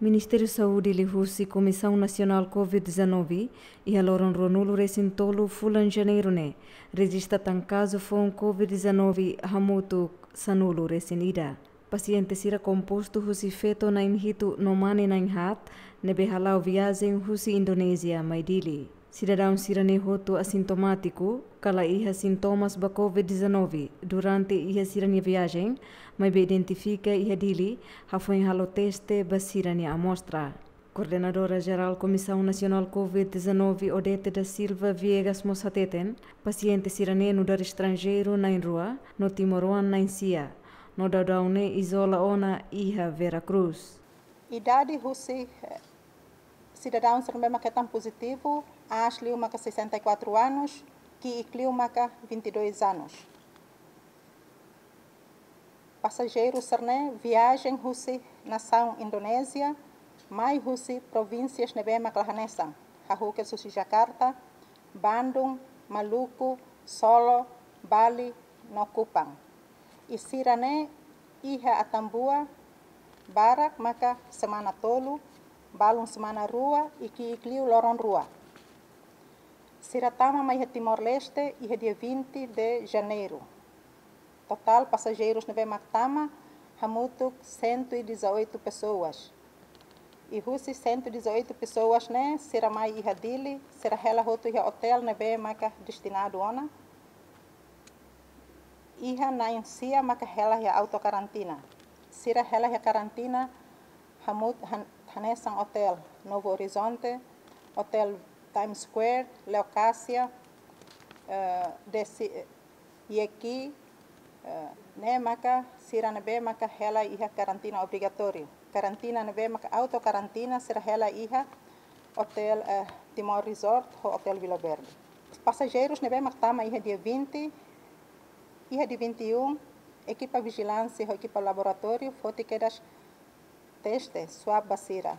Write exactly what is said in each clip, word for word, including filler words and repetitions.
Ministériu Saúde liuhusi Komisaun Nasionál Covid dezanove, iha loron ruanulu resin tolu fulan Janeiru ne'e, rejista tan kazu foun Covid dezanove hamutuk sanulu resin ida. Pasiente sira kompostu husi feto na'in hitu no mane na'in haat, ne'ebé hala'o viajen husi Indonézia mai Dili. Sidadaun sira-ne'e hotu asintomátiku, ka la iha sintomas ba Covid dezanove durante iha sira-nia viajen, maibé identifika iha Dili, hafoin halo teste ba sira-nia amostra. Koordenadora Jerál Komisaun Nasionál Covid dezanove, Odete da Silva Viegas mós hateten, pasiente sira-ne'e nu'udar estranjeiru na'in rua, no timoroan na'in sia, no daudaun ne'e izola ona iha Vera Cruz. Idade husi, eh, sidadaun sira ne'ebé mak hetan pozitivu, aas liu maka sessenta e quatro anos, ki'ik liu maka vinte e dois anos. Pasajeiru sira-ne'e viajen husi nasaun Indonézia, mai husi provínsias ne'ebé mak la hanesan, hahú kedas husi Jakarta, Bandung, Maluku, Solo, Bali, no Kupang. I sira-ne'e iha Atambua barak maka semana tolu, balun semana rua, i ki'ik liu loron rua. Sira tama mai iha Timor-Leste iha dia vinte de Janeiro. Totál pasajeirus ne'ebé mak tama hamutuk cento e dezoito pessoas. I husi cento e dezoito pessoas ne'e, sira mai iha Dili, sira hela hotu iha otél ne'ebé maka destinadu ona. Iha na'in sia maka hela iha autokarantina. Sira hela iha karantina hamut-, han-, hanesan otél Novo Horizonte, otél Times Square, Leocásia, eh, Desi-, Yeki, eh, ne'e maka sira ne'ebé maka hela iha karantina obrigatóriu. Karantina ne'ebé maka autokarantina sira hela iha otél, eh, Timor Resort ho otél Vila Verde. Pasajeirus ne'ebé mak tama iha dia vinte, iha dia vinte e um, ekipa vijilánsia ho ekipa laboratóriu foti kedas teste swab ba sira.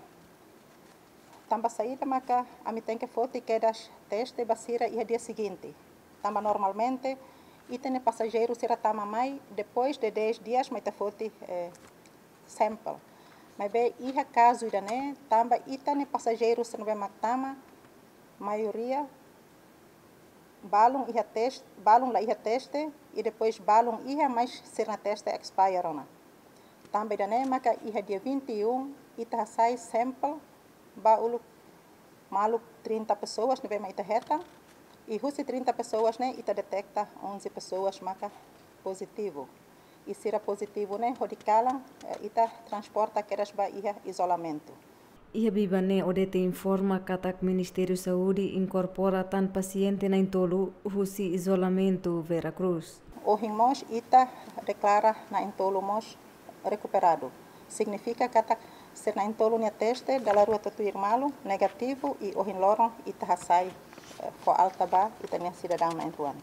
Tanba saida maka ami tenke foti kedas teste ba sira iha dia seguinte? Tanba normalmente ita-nia pasajeiru sira tama mai, depois de dez dias mai ita foti, eh, sample. Maibé iha kazu ida-ne'e, tanba ita-nia pasajeiru sira ne'ebé mak tama, maioria balun iha teste, balun la iha teste, i depois balun iha, mas sira-nia teste expire ona. Tanba ida-ne'e maka iha dia vinte e um ita hasai sample ba uluk maluk trinta pessoas ne'ebé mak ita hetan, i husi trinta pessoas ne'e ita deteta onze pessoas maka pozitivu. I sira pozitivu ne'e hodi kalan, eh, ita transporta kedas ba iha izolamentu. Iha biban ne'e Odete informa katak Ministériu Saúde inkorpora tan pasiente na'in tolu husi izolamentu Vera Cruz. Ohin mós ita deklara na'in tolu mós rekuperadu. Signifika katak sira na'in tolu nia teste dala rua tutuir malu negativu i ohin loron ita hasai, eh, fó alta ba ita-nia sidadaun na'in rua.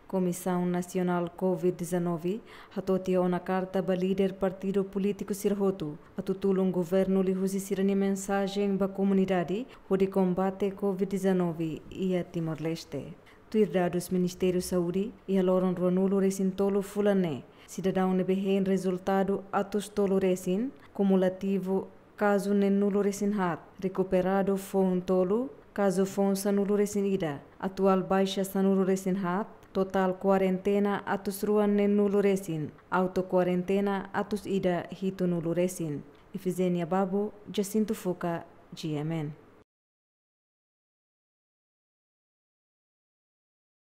Komisaun Nasionál Covid dezanove hato'o tiha ona karta ba líder partidu polítiku sira hotu, atu tulun governu liuhusi sira-nia mensajen ba komunidade hodi kombate Covid dezanove iha Timor-Leste. Tuir dadus Ministériu Saúde, iha loron ruanulu resin tolu fulan ne'e, sidadaun ne'ebé hein rezultadu atus tolu resin, kumulativu kazu neenulu resin haat, rekuperadu foun tolu, kazu foun sanulu resin ida, atuál baixa sanulu resin haat, totál kuarentena atus rua neenulu resin, auto kuarentena atus ida hitunulu resin. Ifizenia Babu, Jacinto Fuca, G M N.